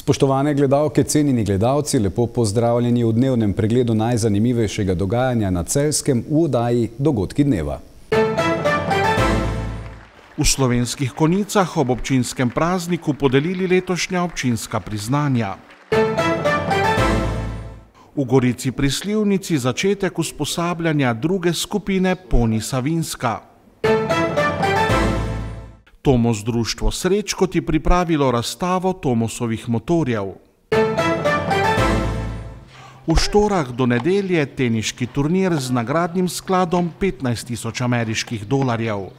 Spoštovane gledalke, cenjeni gledalci, lepo pozdravljeni v dnevnem pregledu najzanimivejšega dogajanja na Celjskem v oddaji Dogodki dneva. V Slovenskih Konjicah ob občinskem prazniku podelili letošnja občinska priznanja. V Gorici pri Slivnici začetek usposabljanja druge skupine Poni Savinjska. Tomos društvo Srečko ti pripravilo razstavo Tomosovih motorjev. V Štorah do nedelje teniški turnir z nagradnim skladom 15.000 ameriških dolarjev.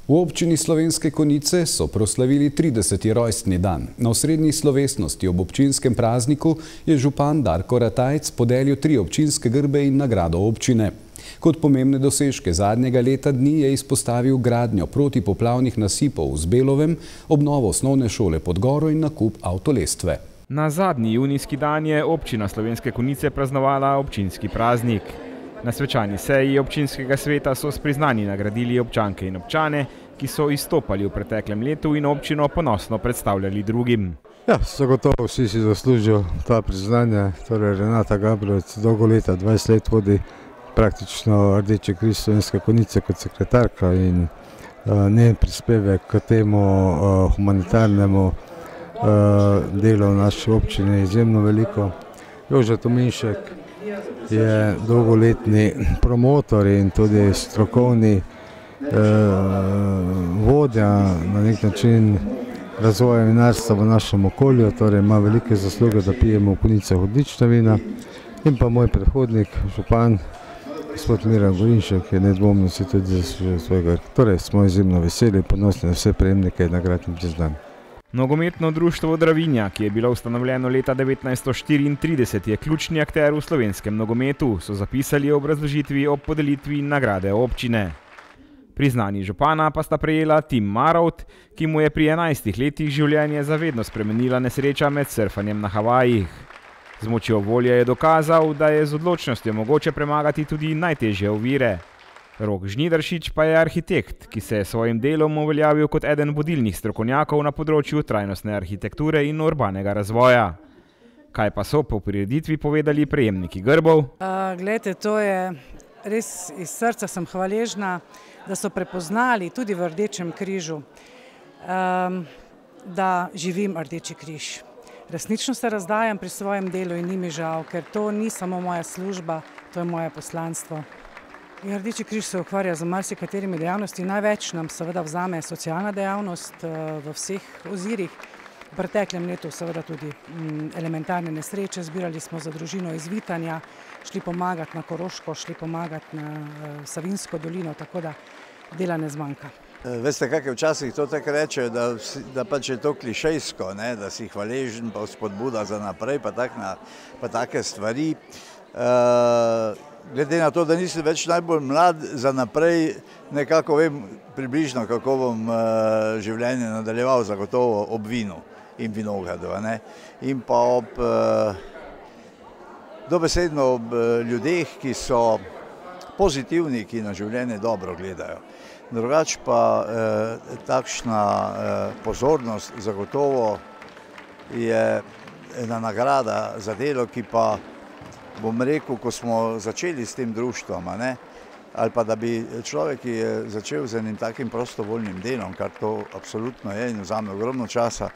V občini Slovenske Konjice so proslavili 30. rojstni dan. Na osrednji slovesnosti ob občinskem prazniku je župan Darko Ratajc podelil 3 občinske grbe in nagrado občine. Kot pomembne dosežke zadnjega leta dni je izpostavil gradnjo protipoplavnih nasipov v Zbelovem, obnovo osnovne šole pod Goro in nakup avtolestve. Na zadnji junijski dan je občina Slovenske Konjice praznovala občinski praznik. Na svečani seji občinskega sveta so s priznanji nagradili občanke in občane, ki so izstopali v preteklem letu in občino ponosno predstavljali drugim. Ja, zagotovo vsi si zaslužijo ta priznanja. Torej Renata Gabrovec dolgo leta, 20 let vodi praktično Rdeči križ Slovenske Konjice kot sekretarka in njen prispevek k temu humanitarnemu delu v naši občini je izjemno veliko. Jože Tominšek je dolgoletni promotor in tudi strokovni vodja na nek način razvoja vinarstva v našem okolju, torej ima velike zasluge, da pijemo v Konjicah odlična vina. In pa moj predhodnik, župan, gospod Miran Gorinšek, je nedvomno si tudi zaslužil svojega. Torej smo izjemno veseli in ponosni na vse prejemnike nagrad in priznanj. Nogometno društvo Dravinja, ki je bilo ustanovljeno leta 1934, je ključni akter v slovenskem nogometu, so zapisali v obrazložitvi ob podelitvi nagrade občine. Priznani župana pa sta prejela Tim Marovt, ki mu je pri 11 letih življenje zavedno spremenila nesreča med surfanjem na Havajih. Z močjo volje je dokazal, da je z odločnostjo mogoče premagati tudi najtežje ovire. Rok Žnidaršič pa je arhitekt, ki se je svojim delom uveljavil kot eden vodilnih strokovnjakov na področju trajnostne arhitekture in urbanega razvoja. Kaj pa so po prireditvi povedali prejemniki grbov? Glejte, to je res iz srca sem hvaležna, da so prepoznali tudi v Rdečem križu, da živim Rdeči križ. Resnično se razdajam pri svojem delu in ni mi žal, ker to ni samo moja služba, to je moje poslanstvo. In Rdeči križ se ukvarja z marsikaterimi dejavnosti. Največ nam seveda vzame socialna dejavnost v vseh ozirih. V preteklem letu seveda tudi elementarne nesreče. Zbirali smo za družino iz Vitanja, šli pomagati na Koroško, šli pomagati na Savinjsko dolino, tako da dela ne zmanjka. Veste, kak je včasih to tako reče, da pač je to klišejsko, da si hvaležen, pa spodbuda za naprej, pa take stvari. Glede na to, da nisem več najbolj mlad, za naprej nekako vem približno, kako bom življenje nadaljeval, zagotovo ob vinu in vinogradu. In pa dobesedno ob ljudeh, ki so pozitivni, ki na življenje dobro gledajo. Drugače pa takšna pozornost zagotovo je ena nagrada za delo, ki pa bom rekel, ko smo začeli s tem društvom, ali pa da bi človek, ki je začel z enim takim prostovoljnim delom, kar to absolutno je in vzame ogromno časa,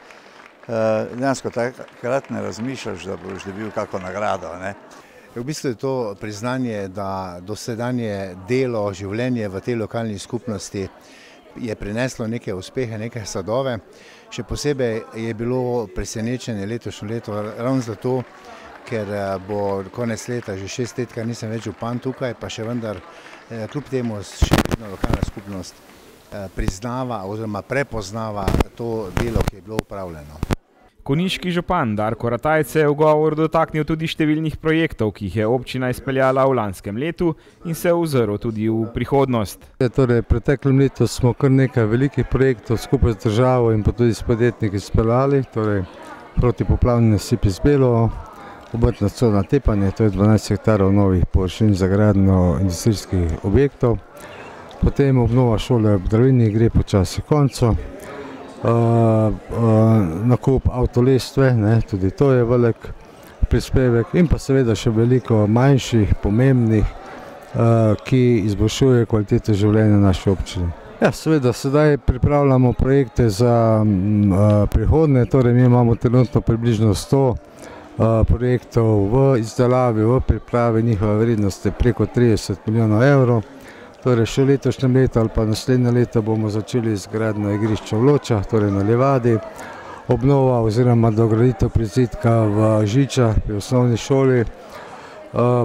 dejansko takrat ne razmišljaš, da boš dobil kako nagrado. V bistvu je to priznanje, da dosedanje delo, življenje v tej lokalni skupnosti je prineslo neke uspehe, neke sadove. Še posebej je bilo presenečenje letošnje leto ravno zato, ker bo konec leta že 6 let, kar nisem več župan tukaj, pa še vendar kljub temu še vedno lokalna skupnost priznava oziroma prepoznava to delo, ki je bilo upravljeno. Konjiški župan Darko Ratajc se je v govoru dotaknil tudi številnih projektov, ki jih je občina izpeljala v lanskem letu in se ozrl tudi v prihodnost. Torej, v preteklem letu smo kar nekaj velikih projektov skupaj z državo in pa tudi s podjetniki izpeljali, torej protipoplavni nasip iz Belovo, obrtna cona Tepanje, to je 12 hektarov novih površin za gradnjo industrijskih objektov. Potem obnova šole v Dravinji gre počasi koncu. nakup avtolestve, tudi to je velik prispevek in pa seveda še veliko manjših, pomembnih, ki izboljšuje kvaliteto življenja naše občine. Ja, seveda, sedaj pripravljamo projekte za prihodnje, torej mi imamo trenutno približno 100 projektov v izdelavi, v pripravi, njihova vrednost je preko 30 milijonov evrov. Torej še v letošnjem letu ali pa naslednje leto bomo začeli z gradnjo igrišča v Ločah, torej na Livadi, obnova oziroma dograditev prizidka v Žičah pri osnovni šoli,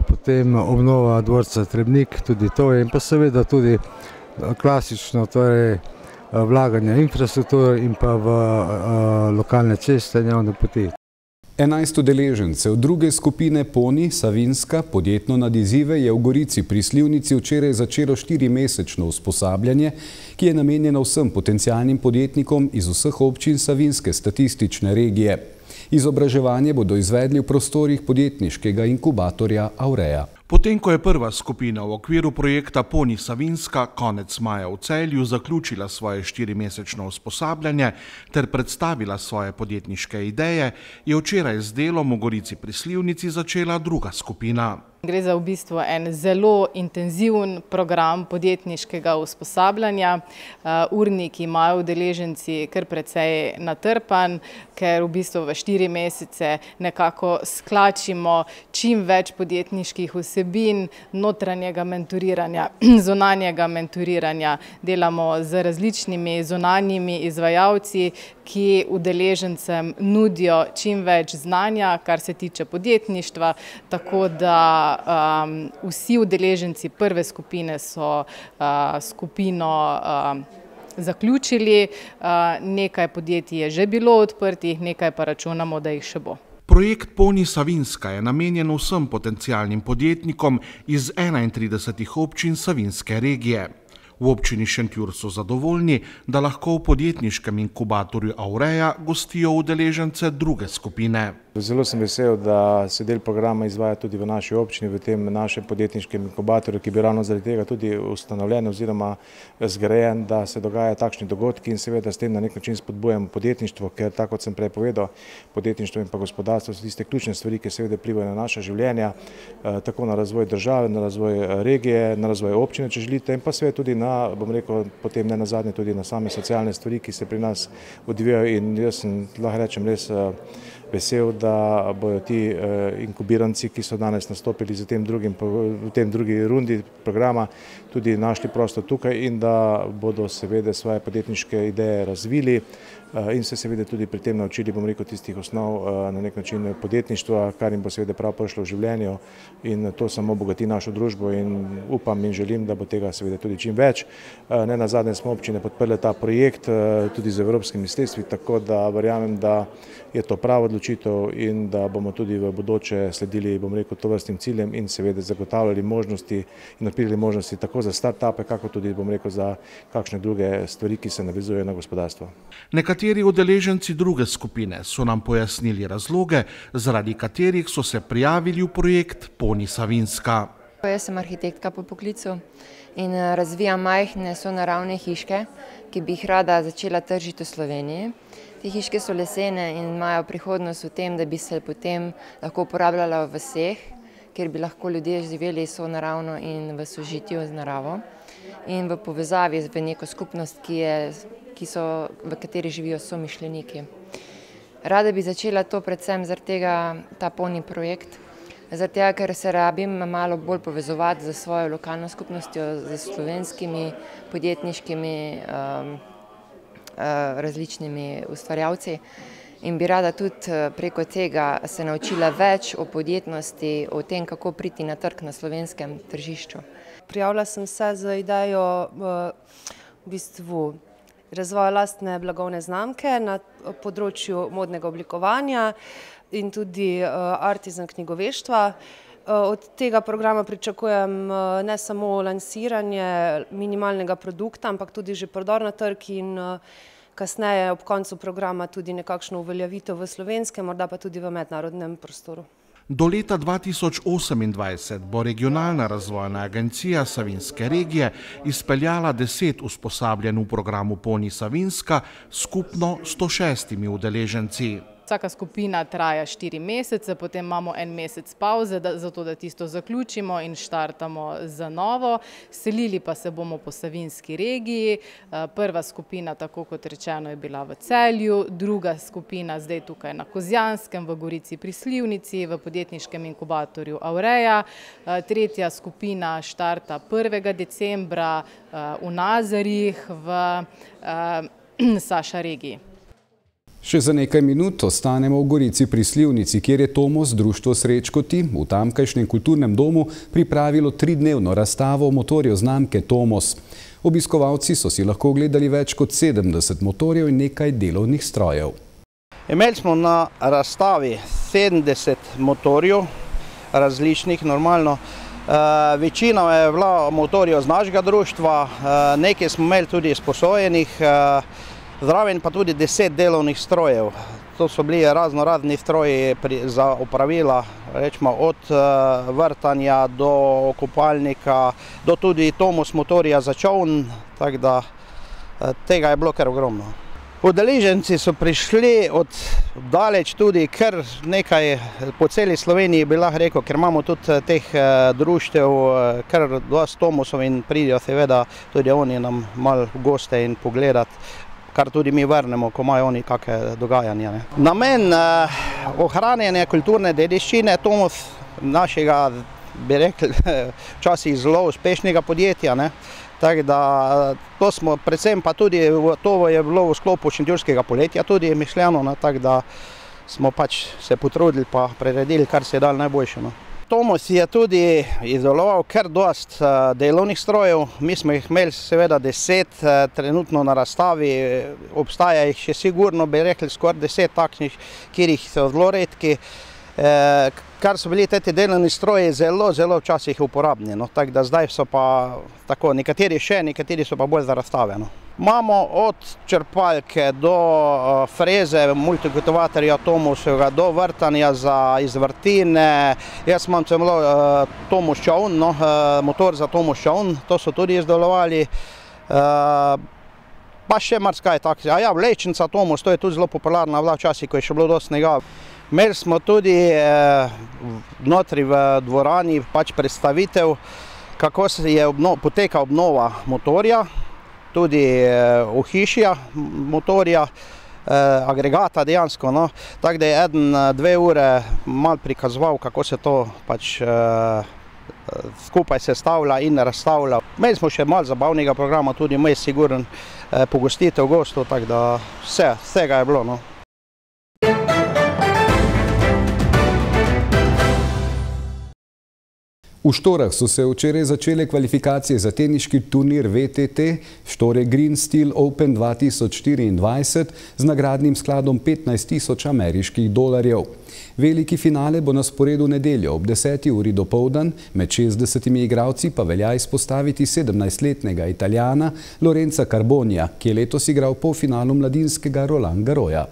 potem obnova dvorca Trebnik, tudi to je, in pa seveda tudi klasično, torej vlaganje infrastrukture in pa v lokalne ceste in javne poti. 11 udeležencev druge skupine Poni Savinjska podjetno nad izzive je v Gorici pri Slivnici včeraj začelo 4-mesečno usposabljanje, ki je namenjeno vsem potencialnim podjetnikom iz vseh občin Savinjske statistične regije. Izobraževanje bodo izvedli v prostorih podjetniškega inkubatorja Aurea. Potem, ko je prva skupina v okviru projekta Poni Savinjska konec maja v Celju zaključila svoje 4-mesečno usposabljanje ter predstavila svoje podjetniške ideje, je včeraj z delom v Gorici pri Slivnici začela druga skupina. Gre za v bistvu en zelo intenziven program podjetniškega usposabljanja. Urnik imajo udeleženci kar precej natrpan, ker v bistvu v 4 mesece nekako sklačimo čim več podjetniških vsebin, notranjega mentoriranja, zunanjega mentoriranja. Delamo z različnimi zunanjimi izvajalci, ki udeležencem nudijo čim več znanja, kar se tiče podjetništva, tako da vsi udeleženci prve skupine so skupino zaključili, nekaj podjetij je že bilo odprtih, nekaj pa računamo, da jih še bo. Projekt Poni Savinjska je namenjen vsem potencialnim podjetnikom iz 31 občin Savinjske regije. V občini Šentjur so zadovoljni, da lahko v podjetniškem inkubatorju Aurea gostijo udeležence druge skupine. Zelo sem vesel, da se del programa izvaja tudi v naši občini, v tem našem podjetniškem inkubatorju, ki bi ravno zaradi tega tudi ustanovljen oziroma zgrajen, da se dogajajo takšni dogodki in seveda s tem na nek način spodbujamo podjetništvo, ker tako kot sem prej povedal, podjetništvo in pa gospodarstvo so tiste ključne stvari, ki seveda vplivajo na naša življenja, tako na razvoj države, na razvoj regije, na razvoj občine, če želite, in pa seveda tudi na, bom rekel, potem ne nazadnje tudi na same socialne stvari, ki se pri nas odvijajo, in jaz sem, lahko rečem, res vesel, da bojo ti inkubiranci, ki so danes nastopili v tem drugi rundi programa, tudi našli prostor tukaj in da bodo seveda svoje podjetniške ideje razvili in se seveda tudi pri tem naučili, bom rekel, tistih osnov na nek način podjetništva, kar jim bo seveda prav prišlo v življenju, in to samo bogati našo družbo in upam in želim, da bo tega seveda tudi čim več. Ne nazadnje smo občine podprle ta projekt tudi z evropskimi sredstvi, tako da verjamem, da je to prava odločitev in da bomo tudi v bodoče sledili, bom rekel, tovrstnim ciljem in seveda zagotavljali možnosti in odpirali možnosti tako za start-upe, kako tudi, bom rekel, za kakšne druge stvari, ki se navezujejo na gospodarstvo. Nekateri udeleženci druge skupine so nam pojasnili razloge, zaradi katerih so se prijavili v projekt Poni Savinjska. Jaz sem arhitektka po poklicu in razvijam majhne sonaravne hiške, ki bi jih rada začela tržiti v Sloveniji. Te hiške so lesene in imajo prihodnost v tem, da bi se potem lahko uporabljala v vaseh, kjer bi lahko ljudje živeli sonaravno in v sožitju z naravo in v povezavi v neko skupnost, v kateri živijo somišljeniki. Rada bi začela to predvsem zaradi tega, ta Poni projekt, zaradi tega, ker se rabim malo bolj povezovati z svojo lokalno skupnostjo, z slovenskimi podjetniškimi različnimi ustvarjalci in bi rada tudi preko tega se naučila več o podjetnosti, o tem, kako priti na trg na slovenskem tržišču. Prijavila sem se z idejo v bistvu razvoja lastne blagovne znamke na področju modnega oblikovanja in tudi artisan knjigoveštva. Od tega programa pričakujem ne samo lansiranje minimalnega produkta, ampak tudi že prodor na trg in kasneje ob koncu programa tudi nekakšno uveljavitev v slovenskem, morda pa tudi v mednarodnem prostoru. Do leta 2028 bo Regionalna razvojna agencija Savinjske regije izpeljala 10 usposabljanj v programu Poni Savinjska s skupno 106 udeleženci. Vsaka skupina traja 4 mesece, potem imamo en mesec pauze, zato da tisto zaključimo in štartamo za novo. Selili pa se bomo po Savinjski regiji. Prva skupina, tako kot rečeno, je bila v Celju, druga skupina zdaj tukaj na Kozjanskem, v Gorici pri Slivnici, v podjetniškem inkubatorju Aureja. Tretja skupina štarta 1. decembra v Nazarjih v Saša regiji. Še za nekaj minut ostanemo v Gorici pri Slivnici, kjer je Tomos društvo Srečkoti v tamkajšnjem kulturnem domu pripravilo 3-dnevno razstavo motorjev znamke Tomos. Obiskovalci so si lahko ogledali več kot 70 motorjev in nekaj delovnih strojev. Imeli smo na razstavi 70 motorjev, različnih normalno. Večina je bila motorjev z našega društva, nekaj smo imeli tudi sposojenih, zraven pa tudi 10 delovnih strojev. To so bili raznorazni stroji za opravila, rečemo od vrtanja do kopalnika, do tudi Tomos motorja za čoln, tako da tega je bilo kar ogromno. Udeleženci so prišli od daleč tudi kar nekaj po celi Sloveniji, bi lahko rekel, ker imamo tudi teh društev, kar dosti Tomosov in pridijo seveda tudi oni nam malo v goste in pogledati, kar tudi mi vrnemo, ko imajo oni kakšne dogajanja. Namen ohranjanja kulturne dediščine Tomos, našega, bi rekli, včasih zelo uspešnega podjetja, tako da to smo predvsem pa tudi, to je bilo v sklopu Šentjurskega poletja tudi mišljeno, tako da smo pač se potrudili pa priredili, kar se je dalo najboljše. Tomos je tudi izdeloval kar dosti delovnih strojev, mi smo jih imeli seveda 10 trenutno na razstavi, obstaja jih še sigurno, bi rekli, skoraj 10 takšnih, kjer jih so zelo redki, kar so bili te delovni stroji zelo včasih uporabni, tako da zdaj so pa tako, nekateri še, nekateri so pa bolj za razstave. Imamo od črpalke do freze, multikultivatorja Tomosovega, do vrtanja za izvrtine. Jaz imam celo Tomos čoln, motor za Tomos čoln, to so tudi izdelovali. Pa še marsikaj tako. A ja, vlečnica Tomos, to je tudi zelo popularna bila včasih, ko je še bilo dosti snega. Imeli smo tudi notri v dvorani pač predstavitev, kako je poteka obnova motorja, tudi ohišja motorja, agregata dejansko, tako da je 1-2 ure malo prikazoval, kako se to pač skupaj sestavlja in razstavlja. Imeli smo še malo zabavnega programa, tudi imeli sigurno pogostitev gostov, tako da vsega je bilo. V Štorah so se včeraj začele kvalifikacije za teniški turnir VTT Štore Green Steel Open 2024 z nagradnim skladom 15.000 ameriških dolarjev. Veliki finale bo na sporedu nedeljo ob 10. uri dopoldan, med 60 igralci pa velja izpostaviti 17-letnega Italijana Lorenza Carbonija, ki je letos igral polfinalu mladinskega Roland Garrosa.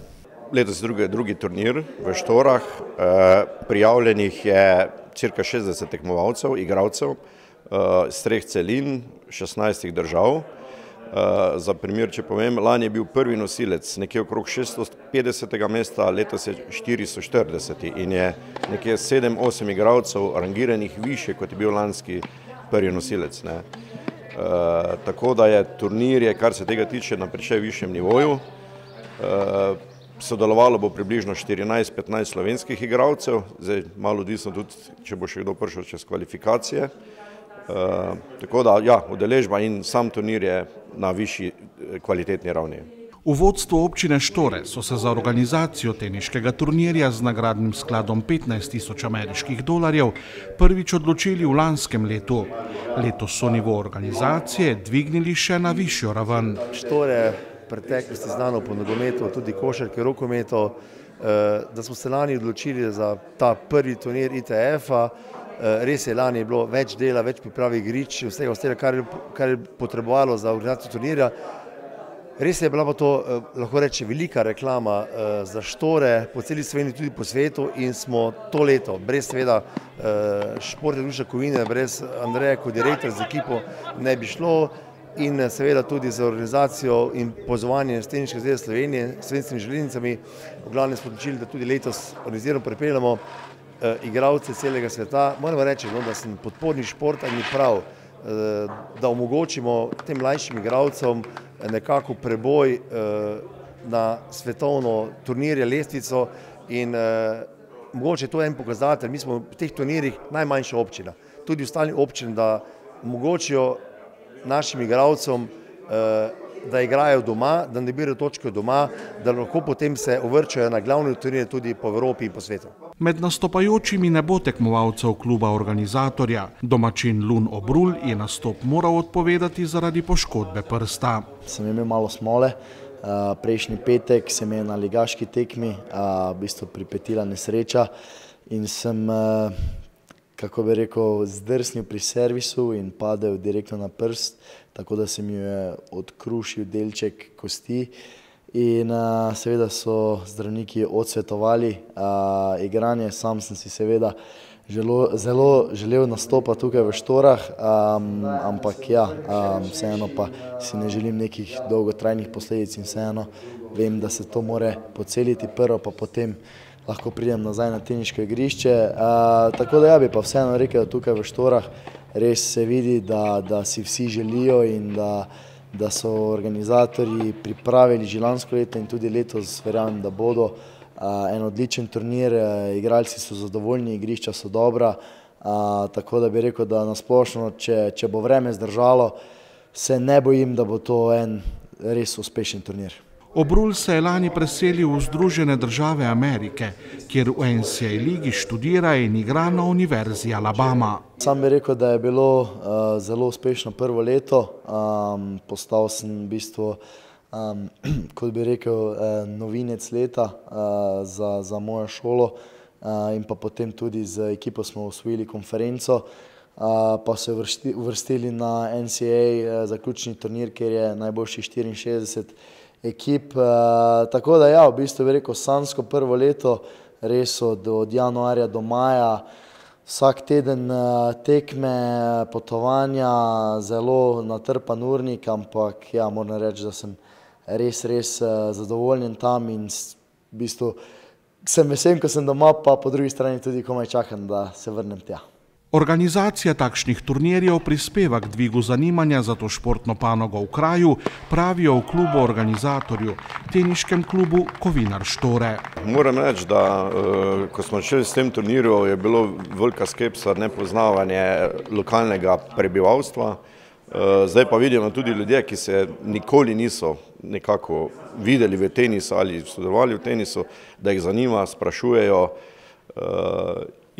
Letos je drugi turnir v Štorah, prijavljenih je cirka 60 tekmovalcev, igralcev, z 3 celin, 16 držav. Za primer, če povem, lani je bil prvi nosilec nekje okrog 650. mesta, letos je 440 in je nekje 7-8 igralcev rangiranih više, kot je bil lanski prvi nosilec. Tako da je turnir, kar se tega tiče, na precej višjem nivoju. Sodelovalo bo približno 14-15 slovenskih igralcev, zdaj malo odvisno tudi, če bo še kdo prišel čez kvalifikacije. Tako da, ja, udeležba in sam turnir je na višji kvalitetni ravni. V vodstvu občine Štore so se za organizacijo teniškega turnirja z nagradnim skladom 15.000 ameriških dolarjev prvič odločili v lanskem letu. Letos so nivo organizacije dvignili še na višjo raven. Štore preteklosti znano po nogometu, tudi košarki, rokometu, da smo se lani odločili za ta prvi turnir ITF-a. Res je, lani je bilo več dela, več priprav igrišč, vsega, kar je potrebovalo za organizacijo turnirja. Res je bila pa to, lahko reče, velika reklama za Štore po celi Sloveniji, tudi po svetu in smo to leto, brez seveda Športne društva Kovine, brez Andreja kot direktor z ekipo ne bi šlo in seveda tudi z organizacijo in pozvanjem Teniške zveze Slovenije s slovenskimi železnicami. V glavnem smo odločili, da tudi letos organizirano pripeljamo igralce celega sveta. Moram reči, da sem podporni športa in prav, da omogočimo tem mlajšim igralcem nekako preboj na svetovno turnirje, lestvico in mogoče to je en pokazatelj. Mi smo v teh turnirjih najmanjša občina, tudi ostalim občinam, da omogočijo našim igralcem, da igrajo doma, da ne birajo točke doma, da lahko potem se uvrčajo na glavne turnirje tudi po Evropi in po svetu. Med nastopajočimi ne bo tekmovalcev kluba organizatorja. Domačin Lun Obrul je nastop moral odpovedati zaradi poškodbe prsta. Sem imel malo smole. Prejšnji petek se mi je na ligaški tekmi v bistvu pripetila nesreča in sem, kako bi rekel, zdrsnil pri servisu in padel direktno na prst, tako da se mi je odkrušil delček kosti in seveda so zdravniki odsvetovali igranje. Sam sem si seveda zelo želel nastopa tukaj v Štorah, ampak ja, vseeno pa si ne želim nekih dolgotrajnih posledic in vseeno vem, da se to more poceliti prvo, pa potem lahko pridem nazaj na teniško igrišče. Tako da ja bi pa vseeno rekel, da tukaj v Štorah res se vidi, da si vsi želijo in da so organizatorji pripravili že lansko leto in tudi letos verjamem, da bodo en odličen turnir, igralci so zadovoljni, igrišča so dobra, tako da bi rekel, da nasplošno, če bo vreme zdržalo, se ne bojim, da bo to en res uspešen turnir. Obrul se je lani preselil v Združene države Amerike, kjer v NCAA ligi študira in igra na Univerzi Alabama. Sam bi rekel, da je bilo zelo uspešno prvo leto. Postal sem v bistvu, kot bi rekel, novinec leta za mojo šolo in pa potem tudi z ekipo smo osvojili konferenco, pa se uvrstili na NCAA zaključni turnir, kjer je najboljših 64 ekip. Tako da ja, v bistvu bi rekel, sanjsko prvo leto, res od januarja do maja, vsak teden tekme, potovanja, zelo natrpan urnik, ampak ja, moram reči, da sem res zadovoljen tam in v bistvu sem vesel, ko sem doma, pa po drugi strani tudi komaj čakam, da se vrnem tja. Organizacija takšnih turnirjev prispeva k dvigu zanimanja za to športno panogo v kraju, pravijo v klubu organizatorju, teniškem klubu Kovinar Štore. Moram reči, da ko smo šli s tem turnirjem, je bilo velika skepsa, nepoznavanje lokalnega prebivalstva. Zdaj pa vidimo tudi ljudje, ki se nikoli niso nekako videli v tenisu ali sodelovali v tenisu, da jih zanima, sprašujejo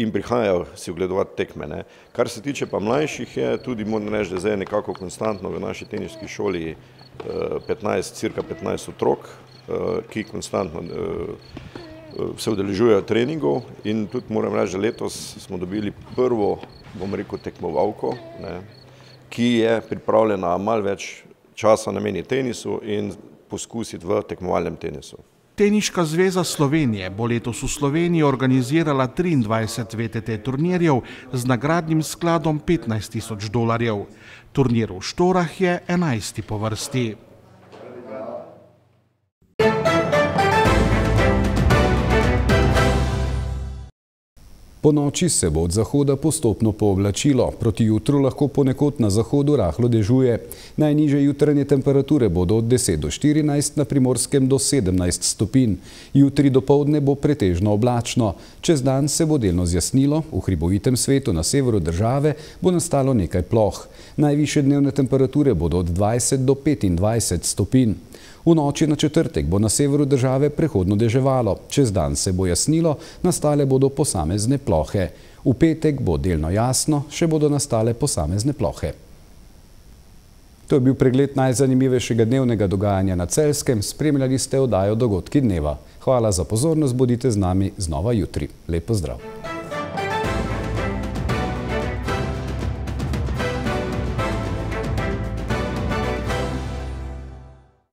in prihajajo si ogledovati tekme. Kar se tiče pa mlajših, je tudi, moram reči, da zdaj nekako konstantno v naši teniški šoli cirka 15 otrok, ki konstantno se udeležujejo treningov in tudi moram reči, da letos smo dobili prvo, bom rekel, tekmovalko, ki je pripravljena malo več časa nameniti tenisu in poskusiti v tekmovalnem tenisu. Teniška zveza Slovenije bo letos v Sloveniji organizirala 23 VTT turnirjev z nagradnim skladom $15,000. Turnir v Štorah je 11. po vrsti. Po noči se bo od zahoda postopno pooblačilo, proti jutru lahko ponekod na zahodu rahlo dežuje. Najnižje jutranje temperature bodo od 10 do 14, na Primorskem do 17 stopinj. Jutri dopoldne bo pretežno oblačno. Čez dan se bo delno zjasnilo, v hribovitem svetu na severu države bo nastalo nekaj ploh. Najvišje dnevne temperature bodo od 20 do 25 stopinj. V noči na četrtek bo na severu države prehodno deževalo, čez dan se bo jasnilo, nastale bodo posamezne plohe. V petek bo delno jasno, še bodo nastale posamezne plohe. To je bil pregled najzanimivejšega dnevnega dogajanja na Celjskem, spremljali ste oddajo Dogodki dneva. Hvala za pozornost, bodite z nami znova jutri. Lep pozdrav!